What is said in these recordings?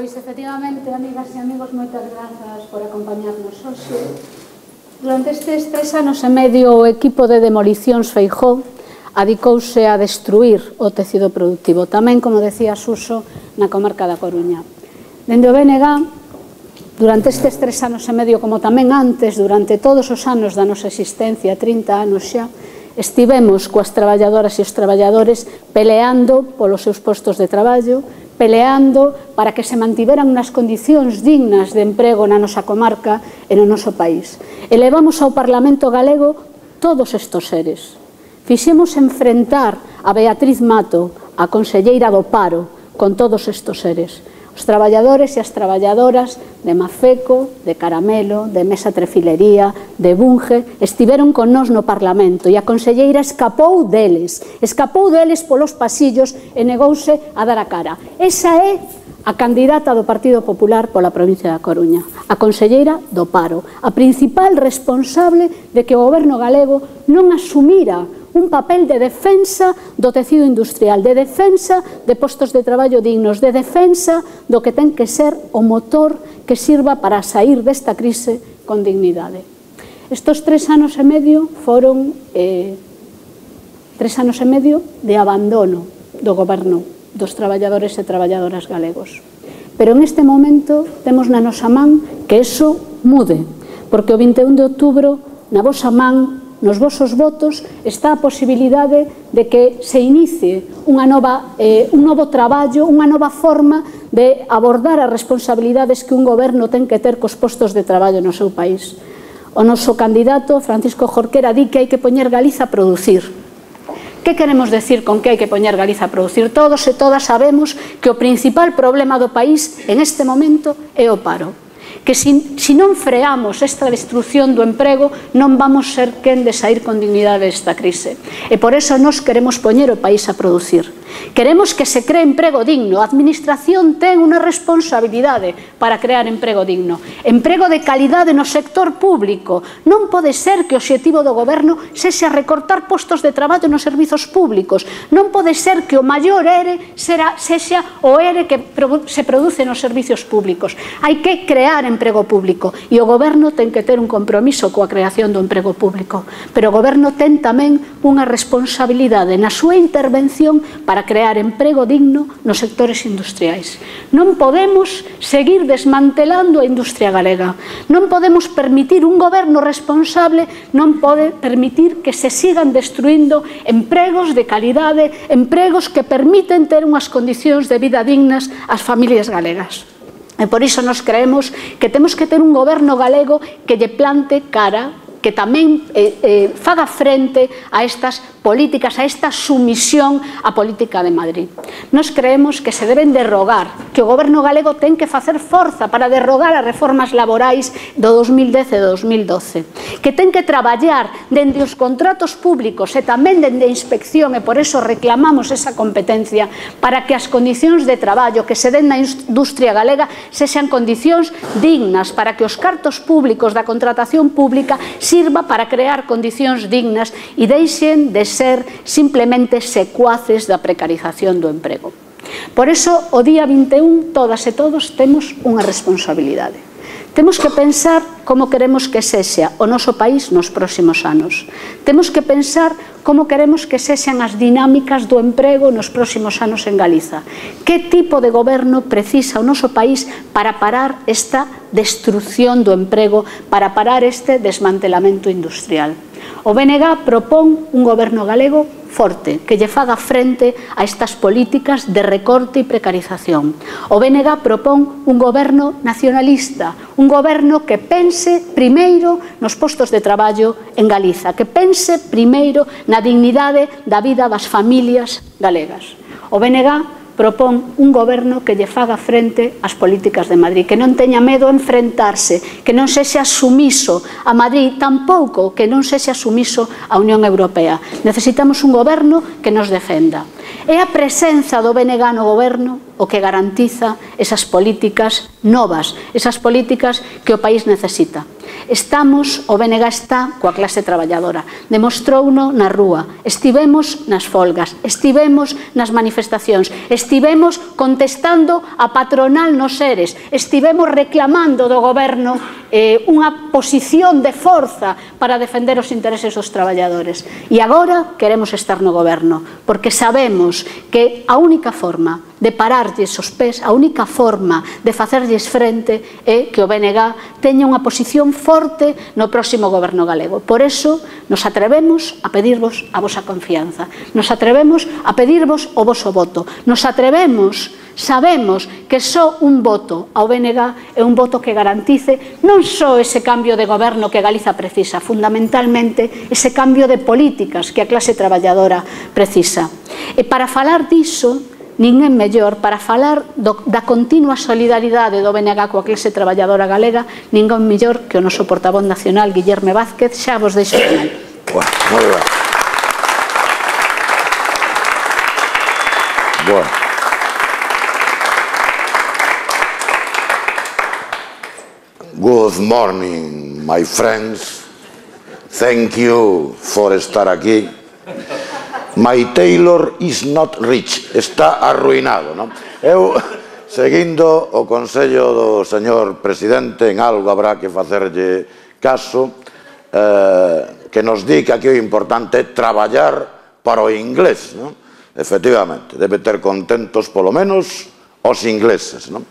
Pois, efectivamente, amigas e amigos, moitas grazas por acompañarnos hoxe. Durante estes 3 anos e medio, o equipo de demolicións Feijóo adicouse a destruir o tecido productivo, tamén, como decía Suso, na comarca da Coruña. Dende o BNG, durante estes 3 anos e medio, como tamén antes, durante todos os anos da nosa existencia, 30 anos xa, estivemos coas traballadoras e os traballadores peleando polos seus postos de traballo, peleando para que se mantiveran nas condicións dignas de emprego na nosa comarca e no noso país. E levamos ao Parlamento galego todos estes seres. Fixemos enfrentar a Beatriz Mato, a conselleira do paro, con todos estes seres. Os traballadores e as traballadoras de Mafeco, de Caramelo, de Mesa Trefilería, de Bunge, estiveron con nós no Parlamento e a conselleira escapou deles polos pasillos e negouse a dar a cara. Esa é a candidata do Partido Popular pola provincia da Coruña, a conselleira do paro, a principal responsable de que o goberno galego non asumira un papel de defensa do tecido industrial, de defensa de postos de traballo dignos, de defensa do que ten que ser o motor que sirva para sair desta crise con dignidade. Estes 3 anos e medio foron 3 anos e medio de abandono do goberno dos traballadores e traballadoras galegos. Pero en este momento temos na nosa man que iso mude, porque o 21 de outubro na vosa man, nos vosos votos, está a posibilidade de que se inicie un novo traballo, unha nova forma de abordar as responsabilidades que un goberno ten que ter cos postos de traballo no seu país. O noso candidato, Francisco Jorquera, di que hai que poñer Galiza a producir. Que queremos decir con que hai que poñer Galiza a producir? Todos e todas sabemos que o principal problema do país en este momento é o paro. Que se non freamos esta destrucción do emprego non vamos ser quen de sair con dignidade desta crise. E por eso nos queremos poñer o país a producir. Queremos que se cree emprego digno. A administración ten unha responsabilidade para crear emprego digno. Emprego de calidade no sector público. Non pode ser que o obxectivo do goberno sexa recortar postos de traballo nos servizos públicos. Non pode ser que o maior ERE sexa o ERE que se produce nos servizos públicos. Hai que crear emprego público e o goberno ten que ter un compromiso coa creación do emprego público, pero o goberno ten tamén unha responsabilidade na súa intervención para crear emprego digno nos sectores industriais. Non podemos seguir desmantelando a industria galega, non podemos permitir un goberno responsable, non pode permitir que se sigan destruindo empregos de calidade, empregos que permiten ter unhas condicións de vida dignas ás familias galegas. E por iso nos creemos que temos que ter un goberno galego que lle plante cara, que tamén faga frente a estas políticas, a esta sumisión á política de Madrid. Nos creemos que se deben derrogar, que o goberno galego ten que facer forza para derrogar as reformas laborais do 2010 e do 2012, que ten que traballar dende os contratos públicos e tamén dende a inspección, e por eso reclamamos esa competencia, para que as condicións de traballo que se den na industria galega sexan condicións dignas, para que os cartos públicos da contratación pública sirva para crear condicións dignas e deixen de ser simplemente secuaces da precarización do emprego. Por iso, o día 21, todas e todos temos unha responsabilidade. Temos que pensar como queremos que sexa o noso país nos próximos anos. Temos que pensar como queremos que sexan as dinámicas do emprego nos próximos anos en Galiza. Que tipo de goberno precisa o noso país para parar esta destrucción do emprego, para parar este desmantelamento industrial? O BNG propón un goberno galego forte, que lle faga frente a estas políticas de recorte e precarización. O BNG propón un goberno nacionalista, un goberno que pense primeiro nos postos de traballo en Galiza, que pense primeiro na dignidade da vida das familias galegas. O BNG propón un goberno que lle faga frente ás políticas de Madrid, que non teña medo a enfrentarse, que non sexa sumiso a Madrid, tampouco que non sexa sumiso á Unión Europea. Necesitamos un goberno que nos defenda. É a presenza do BNG no goberno o que garantiza esas políticas novas, esas políticas que o país necesita. Estamos, o BNG está coa clase traballadora, demostrouno na rúa, estivemos nas folgas, estivemos nas manifestacións, estivemos contestando a patronal nos ERES, estivemos reclamando do goberno unha posición de forza para defender os intereses dos traballadores. E agora queremos estar no goberno, porque sabemos que a única forma de pararlles os pés, a única forma de facerlles frente é que o BNG teña unha posición forte no próximo goberno galego. Por eso nos atrevemos a pedirvos a vosa confianza, nos atrevemos a pedirvos o voso voto, nos atrevemos, sabemos que só un voto ao BNG é un voto que garantice non só ese cambio de goberno que Galiza precisa, fundamentalmente ese cambio de políticas que a clase traballadora precisa. E para falar diso, ninguén mellor, para falar da continua solidaridade do BNG coa clase traballadora galega, ninguén mellor que o noso portavoz nacional, Guillerme Vázquez. Xa vos deixo con él. Moi ben. Bueno. Good morning, my friends. Thank you for estar aquí. My tailor is not rich, está arruinado, non? Eu, seguindo o consello do señor presidente, en algo habrá que facerlle caso, que nos di que aquí o importante é traballar para o inglés, non? Efectivamente, debe ter contentos polo menos os ingleses, non?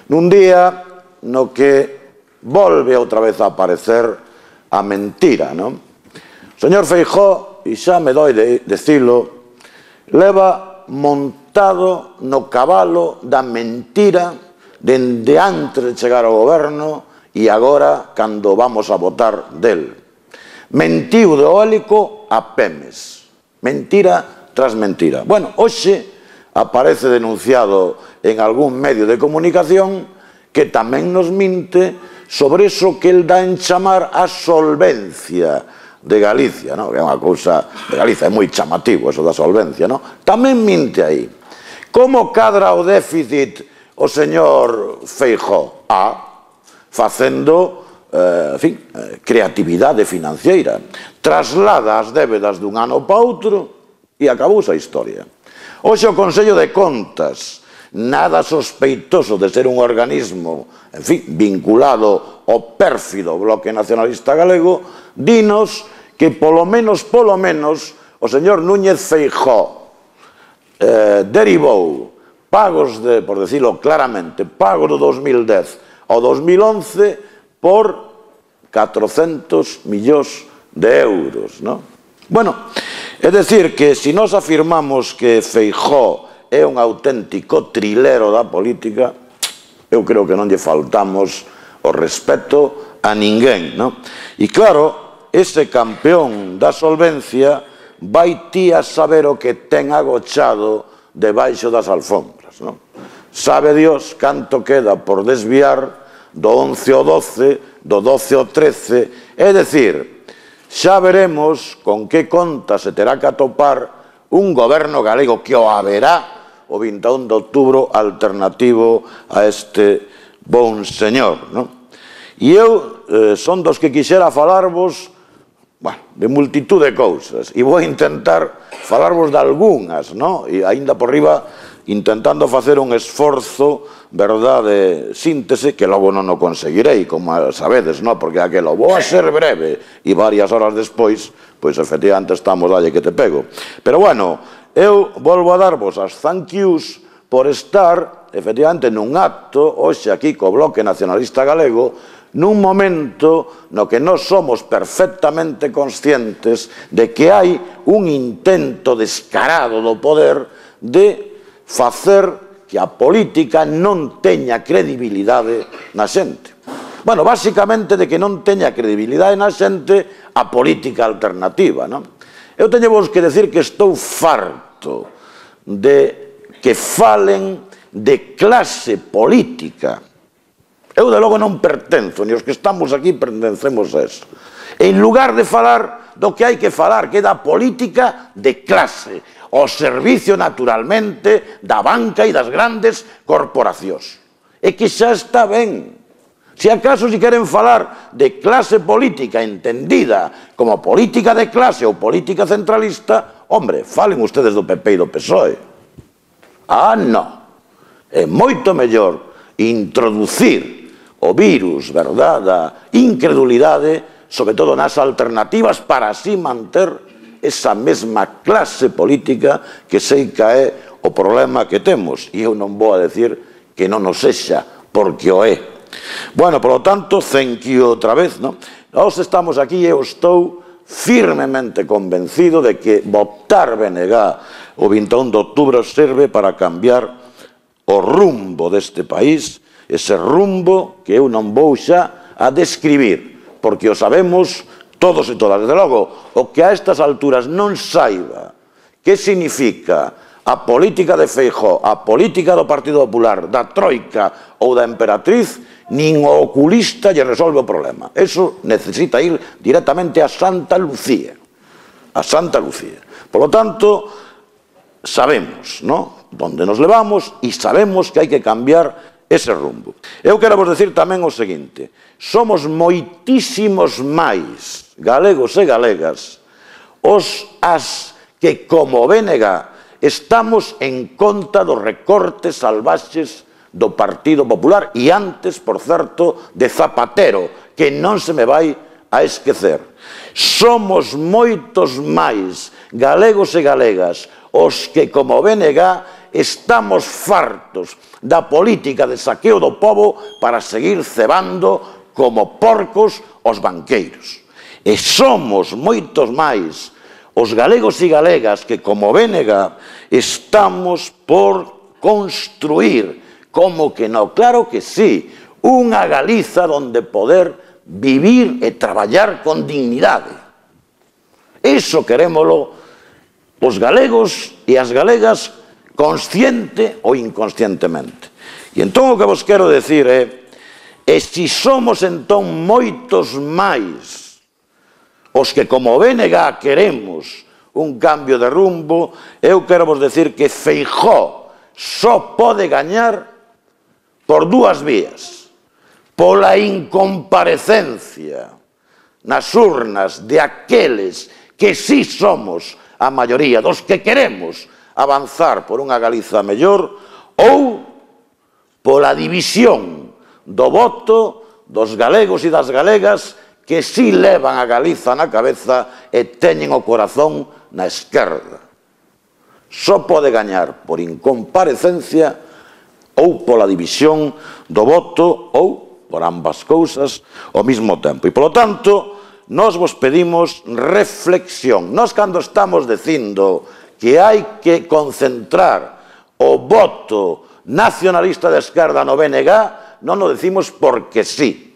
Nun día no que volve outra vez a aparecer a mentira, non? O señor Feijóo, e xa me doi de dicilo, leva montado no cabalo da mentira dende antes de chegar ao goberno e agora cando vamos a votar del. Mentiu do eólico a Pemes, mentira tras mentira. Bueno, hoxe aparece denunciado en algún medio de comunicación que tamén nos minte sobre eso que el dá en chamar a solvencia de Galicia, que é unha cousa de Galicia, é moi chamativo eso da solvencia, tamén minte aí. Como cadra o déficit o señor Feijóo? Facendo, creatividade financiera. Traslada as débedas dun ano para outro e acabouse a historia. Hoxe o Consello de Contas, nada sospeitoso de ser un organismo, vinculado ao pérfido Bloque Nacionalista Galego, dinos que polo menos o señor Núñez Feijóo derivou pagos de, por decirlo claramente, pagos do 2010 ao 2011 por 400 millóns de euros, non? Bueno, é dicir que se nós afirmamos que Feijóo é un auténtico trilero da política, eu creo que non lle faltamos o respeto a ninguén, non? E claro, ese campeón da solvencia vai ti a saber o que ten agochado debaixo das alfombras, non? Sabe Dios canto queda por desviar do 11 ao 12, do 12 ao 13, é dicir, xa veremos con que conta se terá que atopar un goberno galego que o haberá o 21 de outubro alternativo a este bon señor, non? E eu son dos que quixera falarvos de multitud de cousas e vou intentar falarvos de algunhas, non? E aínda por riba intentando facer un esforzo, verdade, de síntese, que logo non o conseguirei, como sabedes, non? Porque aquelo vou a ser breve e varias horas despois, pois efectivamente estamos dalle que te pego. Pero bueno, eu volvo a darvos as thank yous por estar, efectivamente, nun acto, hoxe aquí co Bloque Nacionalista Galego, nun momento no que nós somos perfectamente conscientes de que hai un intento descarado do poder de facer que a política non teña credibilidade na xente. Bueno, basicamente de que non teña credibilidade na xente a política alternativa, non? Eu teño vos que decir que estou farto de que falen de clase política. Eu, de logo, non pertenzo, ni os que estamos aquí pertencemos a eso. En lugar de falar do que hai que falar, que é da política de clase, ao servicio, naturalmente, da banca e das grandes corporacións. É que xa está ben. Si acaso si queren falar de clase política entendida como política de clase ou política centralista, hombre, falen ustedes do PP e do PSOE. Ah, non. É moito mellor introducir o virus, verdad, da incredulidade, sobre todo nas alternativas, para así manter esa mesma clase política que sei que é o problema que temos. E eu non vou a decir que non nos sexa, porque o é. Bueno, por lo tanto, thank you outra vez, non? Nós estamos aquí e eu estou firmemente convencido de que votar BNG o 21 de outubro serve para cambiar o rumbo deste país, ese rumbo que eu non vou xa a describir, porque o sabemos todos e todas. Desde logo, o que a estas alturas non saiba que significa a política de Feijóo, a política do Partido Popular, da Troika ou da Emperatriz, nin o oculista lle resolve o problema. Eso necesita ir directamente a Santa Lucía. A Santa Lucía. Por lo tanto, sabemos, ¿no?, onde nos levamos e sabemos que hai que cambiar ese rumbo. Eu quero vos decir tamén o seguinte: somos moitísimos máis galegos e galegas as que, como BNG, estamos en contra dos recortes salvaxes do Partido Popular e antes, por certo, de Zapatero, que non se me vai a esquecer. Somos moitos máis galegos e galegas os que, como BNG, estamos fartos da política de saqueo do pobo para seguir cebando como porcos os banqueiros. E somos moitos máis os galegos e galegas que, como BNG, estamos por construir, como que non, claro que sí, unha Galiza onde poder vivir e traballar con dignidade. Iso querémolo os galegos e as galegas, consciente ou inconscientemente. E entón o que vos quero decir é, e se somos entón moitos máis os que, como BNG, queremos un cambio de rumbo, eu quero vos decir que Feijóo só pode gañar por dúas vías: pola incomparecencia nas urnas de aqueles que sí somos a maioría, dos que queremos avanzar por unha Galiza mellor, ou pola división do voto dos galegos e das galegas que sí levan a Galiza na cabeza e teñen o corazón na esquerda. Só pode gañar por incomparecencia ou pola división do voto ou por ambas cousas ao mesmo tempo. E, polo tanto, nós vos pedimos reflexión. Nós, cando estamos dicindo que hai que concentrar o voto nacionalista de esquerda no BNG, non o decimos porque sí.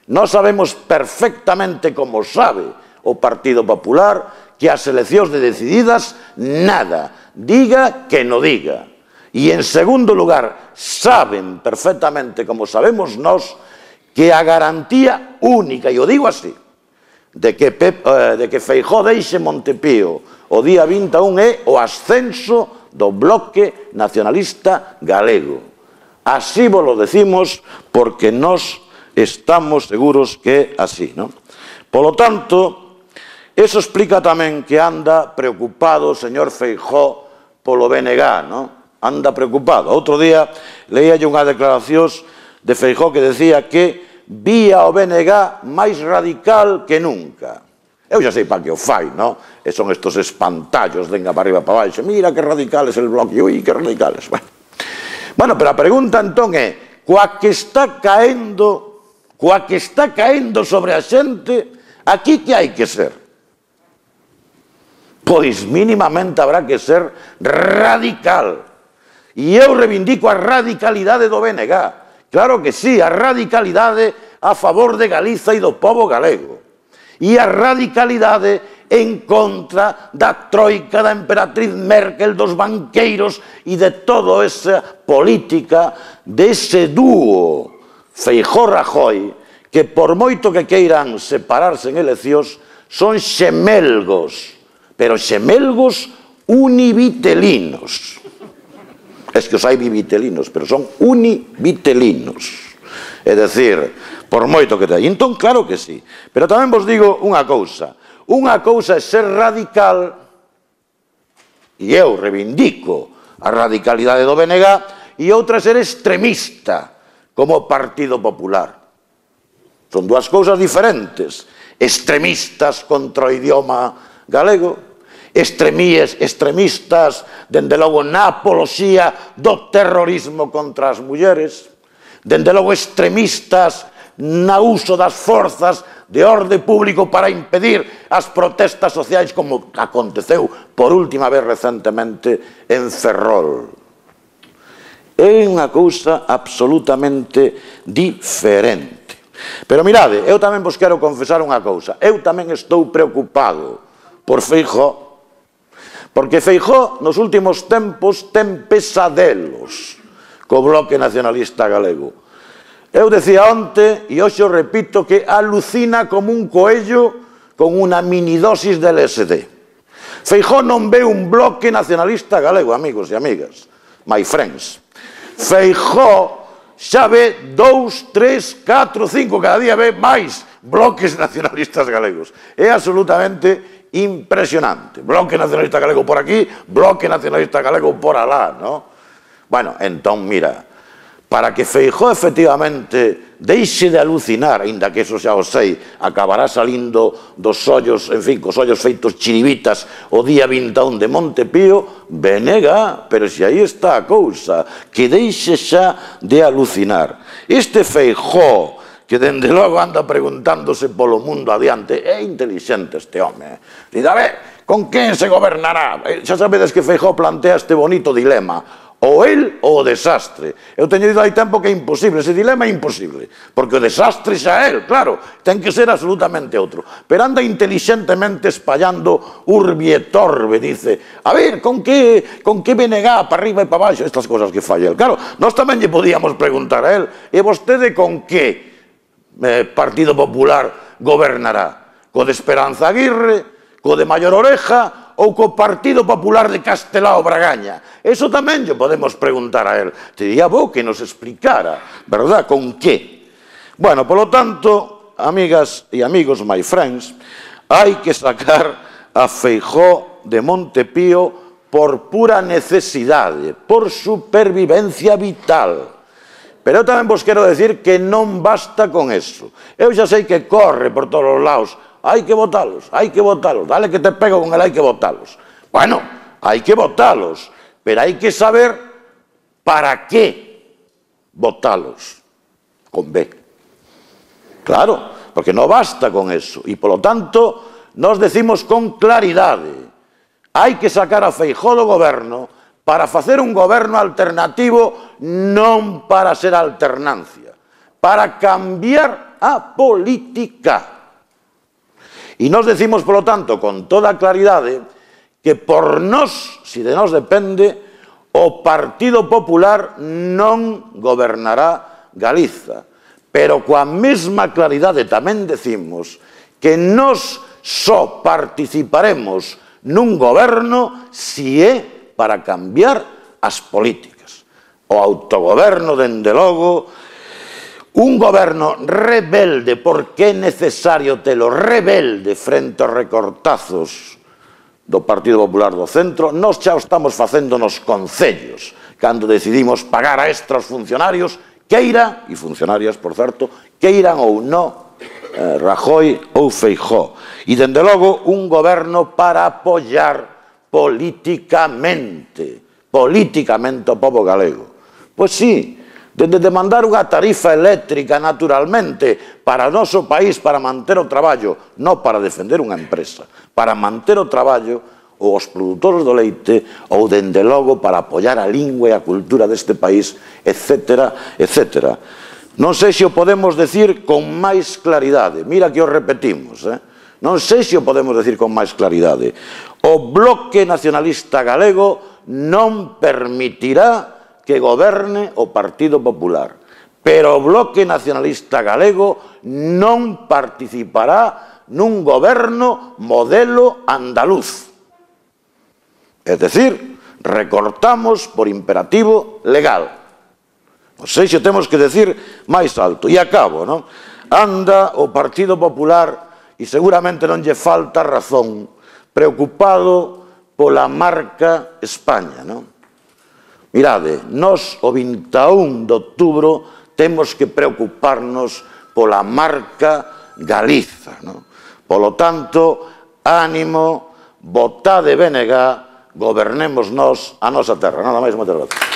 Nós sabemos perfectamente, como sabe o Partido Popular, que as eleccións de decididas, nada, diga que non diga. E, en segundo lugar, saben perfectamente, como sabemos nós, que a garantía única, e o digo así, de que Feijóo deixe Montepío o día 21 é o ascenso do bloque nacionalista galego. Así vos lo decimos porque nós estamos seguros que é así, non? Polo tanto, eso explica tamén que anda preocupado o señor Feijóo polo BNG, non? Anda preocupado. Outro día leíalle unha declaración de Feijóo que decía que vía o BNG máis radical que nunca. Eu xa sei para que o fai, non? E son estos espantallos, venga para arriba para baixo, mira que radical es el bloque, ui, que radicales. Bueno, pero a pregunta entón é, coa que está caendo sobre a xente, aquí que hai que ser? Pois mínimamente habrá que ser radical. E eu reivindico a radicalidade do BNG. Claro que sí, a radicalidade a favor de Galiza e do pobo galego. E a radicalidade en contra da troika, da emperatriz Merkel, dos banqueiros e de toda esa política dese dúo Feijóo-Rajoy, que por moito que queiran separarse en eleccións, son xemelgos, pero xemelgos univitelinos. Es que os hai bivitelinos, pero son univitelinos. É dicir, por moito que te. Entón, claro que sí. Pero tamén vos digo unha cousa. Unha cousa é ser radical, e eu reivindico a radicalidade do BNG, e outra é ser extremista, como Partido Popular. Son dúas cousas diferentes. Extremistas contra o idioma galego, extremistas, dende logo, na apoloxía do terrorismo contra as mulleres, dende logo extremistas no uso das forzas de orde público para impedir as protestas sociais, como aconteceu por última vez recentemente en Ferrol. É unha cousa absolutamente diferente. Pero mirade, eu tamén vos quero confesar unha cousa. Eu tamén estou preocupado por Feijóo, porque Feijóo nos últimos tempos ten pesadelos co Bloque Nacionalista Galego. Eu decía onte, e hoxe o repito, que alucina como un coello con unha minidosis de LSD. Feijóo non ve un Bloque Nacionalista Galego, amigos e amigas, my friends. Feijóo xa ve 2, 3, 4, 5, cada día ve máis bloques nacionalistas galegos. É absolutamente impresionante. Bloque Nacionalista Galego por aquí, Bloque Nacionalista Galego por alá, ¿no? Bueno, entón, mira, para que Feijóo efectivamente deixe de alucinar, ainda que eso xa o sei, acabará salindo dos ollos, en fin, cos ollos feitos chiribitas o día 21 de Montepío, venega, pero se aí está a cousa, que deixe xa de alucinar. Este Feijóo, que dende logo anda preguntándose polo mundo adiante, é intelixente este home. Dice, a ver, con quen se gobernará? Xa sabedes que Feijóo plantea este bonito dilema, ou el ou o desastre. Eu teño dito hai tempo que é imposible, ese dilema é imposible, porque o desastre xa é el, claro, ten que ser absolutamente outro. Pero anda inteligentemente espallando urbi e torbe, dice, a ver, con que BNG para arriba e para baixo, estas cosas que falla el. Claro, nós tamén lle podíamos preguntar a el, e vostede con que Partido Popular gobernará? Co de Esperanza Aguirre, co de Mayor Oreja ou co Partido Popular de Castelao Bragaña? Eso tamén lle podemos preguntar a él. Te diría bo que nos explicara, verdad, con que. Bueno, polo tanto, amigas e amigos, my friends, hai que sacar a Feijóo de Montepío por pura necesidade, por supervivencia vital. Pero eu tamén vos quero decir que non basta con eso. Eu xa sei que corre por todos os lados. Hai que votalos, dale que te pego con el, hai que votalos. Bueno, hai que votalos, pero hai que saber para qué votalos. Con B. Claro, porque non basta con eso. E, polo tanto, nos decimos con claridade, hai que sacar a Feijóo do goberno para facer un goberno alternativo, non para ser alternancia, para cambiar a política. E nos decimos, polo tanto, con toda claridade, que por nós, se de nós depende, o Partido Popular non gobernará Galiza. Pero coa mesma claridade tamén decimos que nós só participaremos nun goberno se é para cambiar as políticas. O autogoberno, dende logo, un goberno rebelde, porque é necesario telo rebelde frente aos recortazos do Partido Popular do Centro. Nós xa o estamos facendo nos concellos, cando decidimos pagar a extra aos funcionarios, queira, e funcionarias, por certo, queiran ou non Rajoy ou Feijóo. E, dende logo, un goberno para apoiar políticamente o povo galego. Pois sí, de demandar unha tarifa eléctrica naturalmente para o noso país, para manter o traballo, non para defender unha empresa, para manter o traballo ou os produtores do leite, ou dende logo para apoiar a lingua e a cultura deste país, etc., etc. Non sei se o podemos decir con máis claridade, mira que o repetimos, non sei se o podemos decir con máis claridade. O Bloque Nacionalista Galego non permitirá que goberne o Partido Popular, pero o Bloque Nacionalista Galego non participará nun goberno modelo andaluz. É dicir, recortamos por imperativo legal. Non sei se temos que decir máis alto. E acabo, non? anda o Partido Popular, e seguramente non lle falta razón, preocupado pola marca España, non? Mirade, nós o 21 de outubro temos que preocuparnos pola marca Galiza, non? Polo tanto, ánimo, votade BNG, gobernemos nós a nosa terra. Nada máis, moitas gracias.